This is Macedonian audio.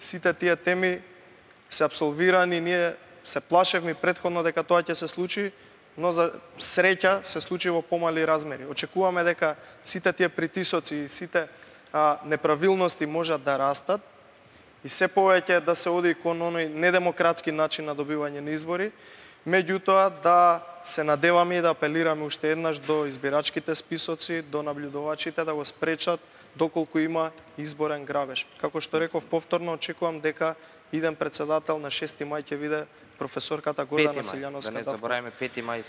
сите тие теми се апсолвирани, ние се плашевме претходно дека тоа ќе се случи, но за среќа се случи во помали размери. Очекуваме дека сите тие притисоци и сите неправилности можат да растат и се повеќе да се оди кон оној недемократски начин на добивање на избори, меѓутоа да се надеваме и да апелираме уште еднаш до избирачките списоци, до наблюдувачите да го спречат доколку има изборен грабеж. Како што реков повторно, очекувам дека иден председател на 6 мај ќе биде професорката Гордана Силјановска. Да не забораваме 5 мај